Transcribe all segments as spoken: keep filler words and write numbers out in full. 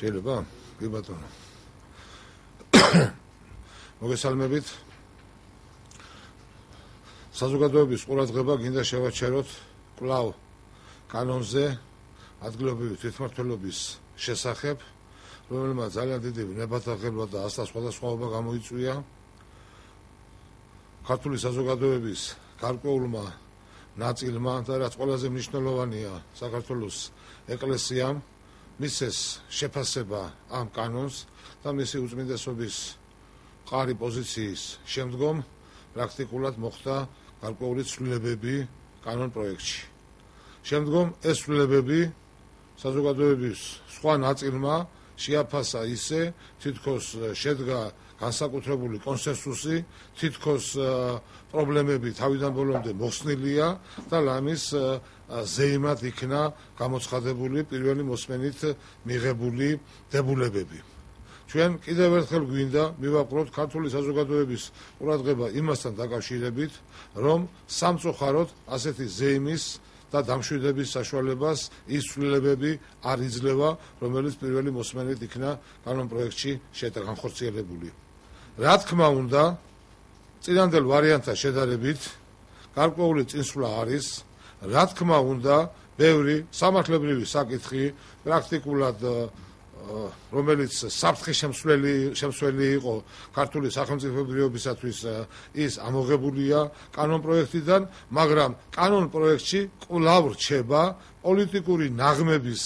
შეიძლება? კი ბატონო. მოგესალმებით. საზოგადოების ყურადღება გინდა შევაჩეროთ კვლავ კანონზე ადგილობრივი თვითმმართველობის შესახებ, რომელმაც ძალიან დიდი ნებათაღელვა და ასთა სხვადასხვაობა გამოიწვია. ქართული საზოგადოების გარკვეულმა ნაწილმა და რაც ყველაზე მნიშვნელოვანია საქართველოს ეკლესიამ მისცეს შეფასება ამ კანონს და მისი უწმინდესობის მყარი პოზიციის შემდგომ პრაქტიკულად მოხდა გარკვეული ცვლილებები კანონ პროექტში. შემდგომ ეს ცვლილებები საზოგადოების სხვა ნაწილმა შეაფასა ისე, თითქოს შედგა განსაკუთრებული კონსენსუსი, თითქოს პრობლემები თავიდან ბოლომდე მოხსნილია და ლამის ზეიმად იქნა გამოცხადებული პირველი მოსმენით მიღებული დებულებები. ჩვენ კიდევ ერთხელ გვინდა მივაყვროთ ქართული საზოგადოების ყურადღება იმასთან დაკავშირებით, რომ სამწუხაროდ ასეთი ზეიმის და დამშვიდების საშუალებას ის ცვლილებები არ იძლევა, რომელიც პირველი მოსმენით იქნა კანონ პროექტში განხორციელებული. რა თქმა უნდა, წინანდელ ვარიანტთან შედარებით გარკვეული წინსვლა არის, რა თქმა უნდა, ბევრი სამართლებრივი საკითხი პრაქტიკულად რომელიც საფრთხის შემცველი იყო ქართული სახელმწიფოებრიობისათვის ის ამოღებულია კანონ პროექტიდან, მაგრამ კანონ პროექტში კვლავ რჩება პოლიტიკური ნაღმების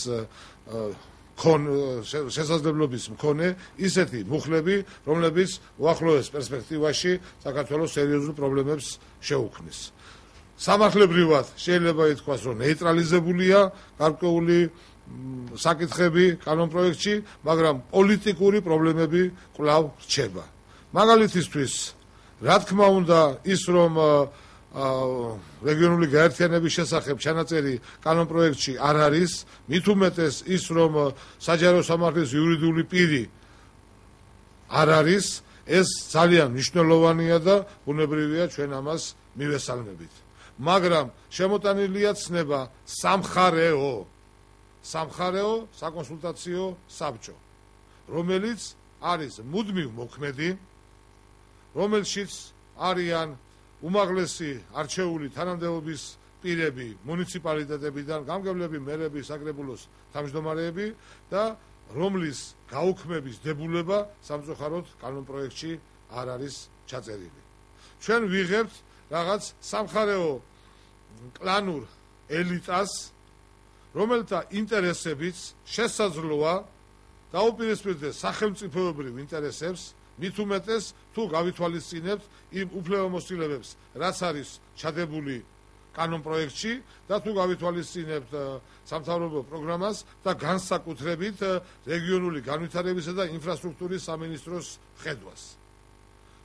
შესაძლებლობის მქონე ისეთი მუხლები, რომლებიც უახლოეს პერსპექტივაში საქართველოს სერიოზულ პრობლემებს შეუქმნის. სამართლებრივად შეიძლება ითქვას, რომ ნეიტრალიზებულია გარკვეული საკითხები კანონ პროექტში, მაგრამ პოლიტიკური პრობლემები კვლავ რჩება. მაგალითისთვის, რა თქმა უნდა, ის რომ რეგიონული გაერთიანების შესახებ ჩანაწერი კანონ პროექტში არ არის, მით უმეტეს ის რომ საჯარო სამართლის იურიდიული პირი არ არის, ეს ძალიან მნიშვნელოვანია და ბუნებრივია ჩვენ ამას მივესალმებით. მაგრამ შემოტანილია ცნება სამხარეო სამხარეო საკონსულტაციო საბჭო, რომელიც არის მუდმივ მოქმედი, რომელშიც არიან უმაღლესი არჩეული თანამდებობის პირები მუნიციპალიტეტებიდან, გამგებლები, მერები, საკრებულოს თავმჯდომარეები და რომლის გაუქმების დებულება სამწუხაროდ კანონ პროექტში არ არის ჩაწერილი. ჩვენ ვიღებთ რაღაც სამხარეო კლანურ ელიტას, რომელთა ინტერესებიც შესაძლოა დაუპირისპირდეს სახელმწიფოებრივ ინტერესებს, მით უმეტეს თუ გავითვალისწინებთ იმ უფლებამოსილებებს, რაც არის ჩადებული კანონ პროექტში და თუ გავითვალისწინებთ სამთავრობო პროგრამას და განსაკუთრებით რეგიონული განვითარებისა და ინფრასტრუქტურის სამინისტროს ხედვას,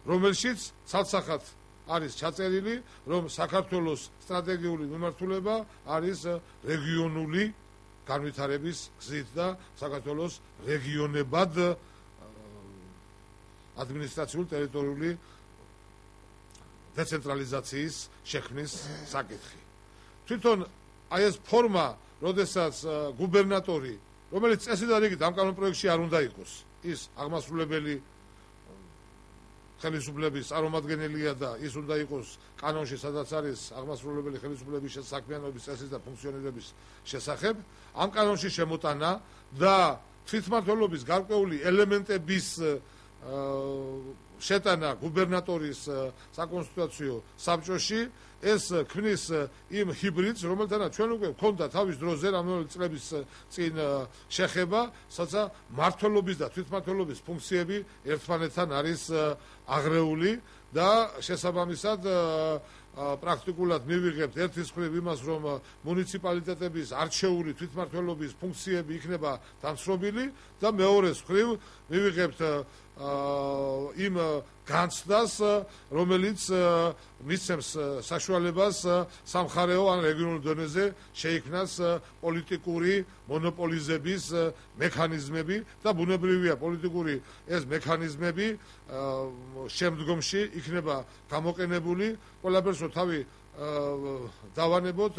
რომელშიც ცალსახად არის ჩაწერილი, რომ საქართველოს სტრატეგიული მიმართულება არის რეგიონული განვითარების გზით და საქართველოს რეგიონებად ადმინისტრაციული ტერიტორიული დეცენტრალიზაციის შექმნის საკითხი. თვითონ აი ეს ფორმა, როდესაც გუბერნატორი, რომელიც წესით და რიგით ამ კანონ პროექტში არ უნდა იყოს, ის აღმასრულებელი ხელისუფლების წარმომადგენელია და ის უნდა იყოს კანონში, სადაც არის აღმასრულებელი ხელისუფლების საქმიანობის წესის და ფუნქციონირების შესახებ, ამ კანონში შემოტანა და თვითმმართველობის გარკვეული ელემენტების შეტანა გუბერნატორის საკონსულტაციო საბჭოში, ეს ქმნის იმ ჰიბრიდს, რომელთანაც ჩვენ უკვე გვქონდა თავის დროზე რამდენიმე წლების წინ შეხება, სადაც მმართველობის და თვითმმართველობის ფუნქციები ერთმანეთთან არის აღრეული და შესაბამისად პრაქტიკულად მივიღებთ ერთის მხრივ იმას, რომ მუნიციპალიტეტების არჩეული თვითმმართველობის ფუნქციები იქნება დამცრობილი და მეორეს მხრივ მივიღებთ იმ განცდას, რომელიც მისცემს საშუალებას სამხარეო ან რეგიონულ დონეზე შეიქმნას პოლიტიკური მონოპოლიზების მექანიზმები და ბუნებრივია პოლიტიკური ეს მექანიზმები შემდგომში იქნება გამოყენებული ყველაფერს თავი დავანებოთ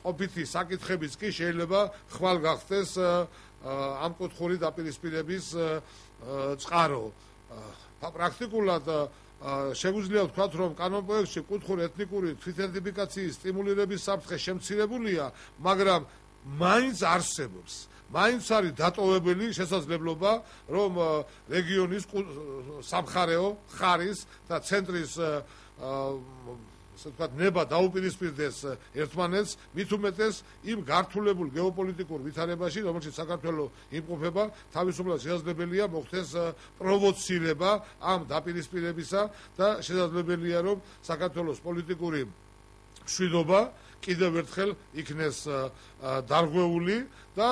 ყოფითი საკითხებიც კი შეიძლება ხვალ გახდეს ამ კუთხური დაპირისპირების წყარო. პრაქტიკულად შეგვიძლია ვთქვათ, რომ კანონპროექტში კუთხური ეთნიკური თვითიდენტიფიკაციის სტიმულირების საფრთხე შემცირებულია, მაგრამ მაინც არსებობს. მაინც არის დატოვებელი შესაძლებლობა, რომ რეგიონის სამხარეო ხარის და ცენტრის ასე ვთქვათ, ნება დაუპირისპირდეს ერთმანეთს, მით უმეტეს იმ გართულებულ გეოპოლიტიკურ ვითარებაში, რომელშიც საქართველო იმყოფება, თავისუფლად შესაძლებელია მოხდეს პროვოცირება ამ დაპირისპირებისა და შესაძლებელია, რომ საქართველოს პოლიტიკური მშვიდობა კიდევ ერთხელ იქნეს დარღვეული და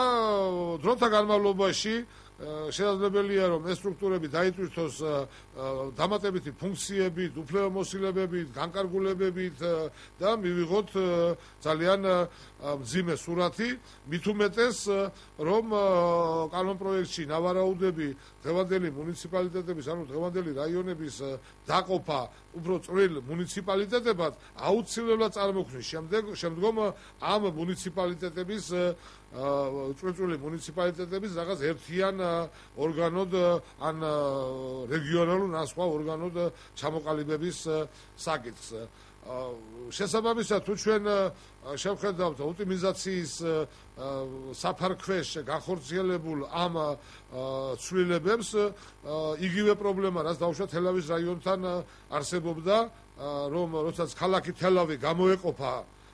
დროთა განმავლობაში შესაძლებელია, რომ ეს სტრუქტურები დაიტვირთოს დამატებითი ფუნქციებით, უფლებამოსილებებით, განკარგულებებით და მივიღოთ ძალიან მძიმე სურათი, მით უმეტეს, რომ კანონპროექტში ნავარაუდები დღევანდელი მუნიციპალიტეტების, ანუ დღევანდელი რაიონების დაყოფა უფრო წვრილ მუნიციპალიტეტებად აუცილებლად წარმოქმნის შემდგომ ამ მუნიციპალიტეტების წვრილ მუნიციპალიტეტების რაღაც ერთიან ორგანოდ ან რეგიონალურ ან სხვა ორგანოდ ჩამოყალიბების საკითხს. შესაბამისად, თუ ჩვენ შევხედავთ ოპტიმიზაციის საფარქვეშ განხორციელებულ ამ ცვლილებებს, იგივე პრობლემა, რაც დაუშვათ თელავის რაიონთან არსებობდა, რომ როდესაც ქალაქი თელავი გამოეყოფა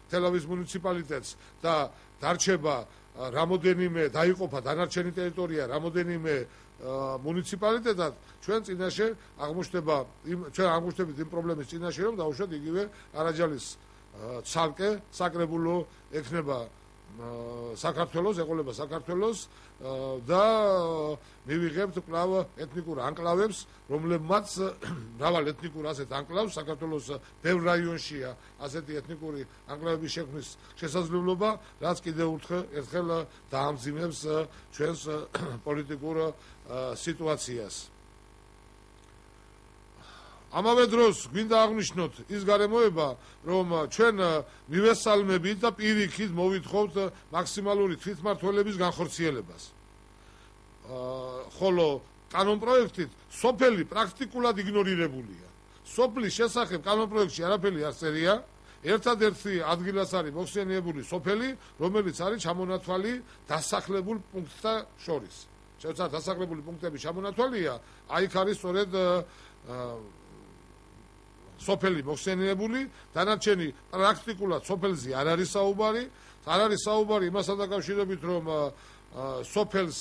თელავის მუნიციპალიტეტს და დარჩება რამოდენიმე დაიყოფა დანარჩენი ტერიტორია რამოდენიმე მუნიციპალიტეტად, ჩვენ წინაშე აღმოჩნდება ჩვენ აღმოჩნდებით იმ პრობლემის წინაშე, რომ დაუშვათ იგივე არაჯალის ცალკე საკრებულო ექნება საქართველოს, ეყოლება საქართველოს და მივიღებთ კვლავ ეთნიკურ ანკლავებს, რომლებმაც მრავალ ეთნიკურ ასეთ ანკლავს საქართველოს ბევრ რაიონშია ასეთი ეთნიკური ანკლავების შექმნის შესაძლებლობა, რაც კიდევ ერთხელ დაამძიმებს ჩვენს პოლიტიკურ სიტუაციას. ამავე დროს გვინდა აღნიშნოთ ის გარემოება, რომ ჩვენ მივესალმებით და პირიქით მოვითხოვთ მაქსიმალური თვითმმართველობის განხორციელებას. ხოლო კანონპროექტით სოფელი პრაქტიკულად იგნორირებულია. სოფლის შესახებ კანონპროექტში არაფერი არ წერია, ერთადერთი ადგილას არის მოხსენიებული სოფელი, რომელიც არის ჩამონათვალი დასახლებულ პუნქტთა შორის. შეუცად დასახლებული პუნქტები ჩამონათვალია, აი იქ არის სწორედ სოფელი მოხსენიებული, დანარჩენი პრაქტიკულად სოფელზე არ არის საუბარი, არ არის საუბარი იმასთან დაკავშირებით, რომ სოფელს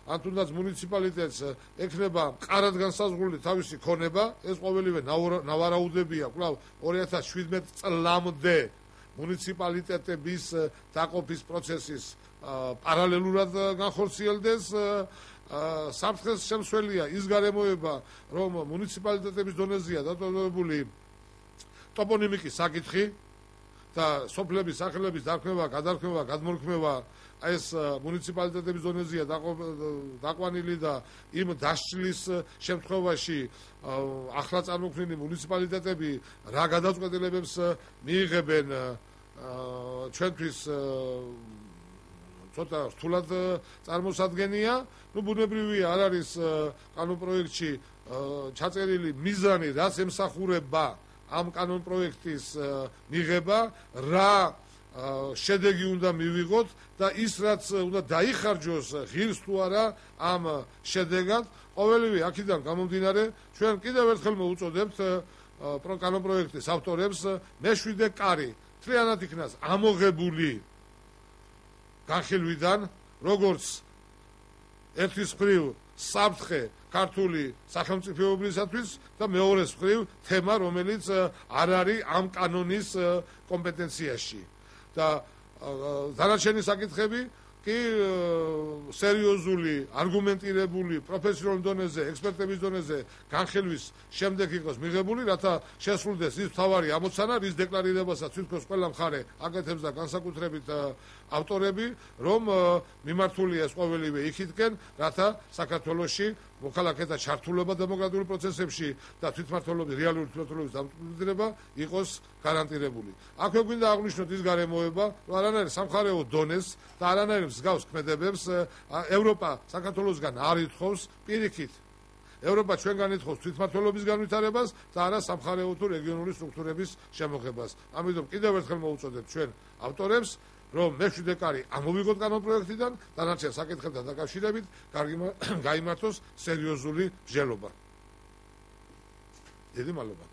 ან თუნდაც მუნიციპალიტეტს ექნება მყარად განსაზღვრული თავისი ქონება, ეს ყოველივე ნავარაუდებია კვლავ ორი ათას შვიდმეტ წლამდე მუნიციპალიტეტების დაყოფის პროცესის პარალელურად განხორციელდეს. საფრთხეს შემცველია ის გარემოება, რომ მუნიციპალიტეტების დონეზეა დატოვებული ტოპონიმიკის საკითხი და სოფლების სახელების დარქმევა, გადარქმევა, გადმორქმევა ეს მუნიციპალიტეტების დონეზეა დაყვანილი და იმ დასჯლის შემთხვევაში ახლა წარმოქმნილი მუნიციპალიტეტები რა გადაწყვეტილებებს მიიღებენ ჩვენთვის ცოტა რთულად წარმოსადგენია. ნუ ბუნებრივია, არ არის კანონპროექტში ჩაწერილი მიზანი, რაც ემსახურება ამ კანონპროექტის მიღება, რა შედეგი უნდა მივიღოთ და ის რაც უნდა დაიხარჯოს ღირს თუ არა ამ შედეგად. ყოველივე აქედან გამომდინარე, ჩვენ კიდევ ერთხელ მოვუწოდებთ კანონპროექტის ავტორებს მეშვიდე კარი მთლიანად იქნას ამოღებული განხილვიდან, როგორც ერთის მხრივ საფრთხე ქართული სახელმწიფოეობისათვის და მეორეს მხრივ თემა, რომელიც არ არის ამ კანონის კომპეტენციაში. და დანარჩენი საკითხები კი სერიოზული, არგუმენტირებული, პროფესიონალურ დონეზე, ექსპერტების დონეზე განხილვის შემდეგ იყოს მიღებული, რათა შესრულდეს ის მთავარი ამოცანა, რის დეკლარირებასაც თვითონ ყველა მხარე აკეთებს და განსაკუთრებით ავტორები, რომ მიმართულია ეს ყოველივე იქითკენ, რათა საქართველოში მოქალაქეთა ჩართულობა დემოკრატიულ პროცესებში და თვითმმართველობის რეალური თვითმმართველობის დამკვიდრება იყოს გარანტირებული. აქვე გვინდა აღვნიშნოთ ის გარემოება, რომ არანაირ სამხარეო დონეს და არანაირ მსგავს ქმედებებს ევროპა საქართველოსგან არ ითხოვს პირიქით. ევროპა ჩვენგან ითხოვს თვითმმართველობის განვითარებას და არა სამხარეო თუ რეგიონული სტრუქტურების შემოღებას. ამიტომ კიდევ ერთხელ მოვუწოდებ ჩვენ ავტორებს, რომ მეშვიდე კარი ამოვიღოთ კანონპროექტიდან, დანარჩენ საკითხებთან დაკავშირებით გაიმართოს სერიოზული მსჯელობა. დიდი მადლობა.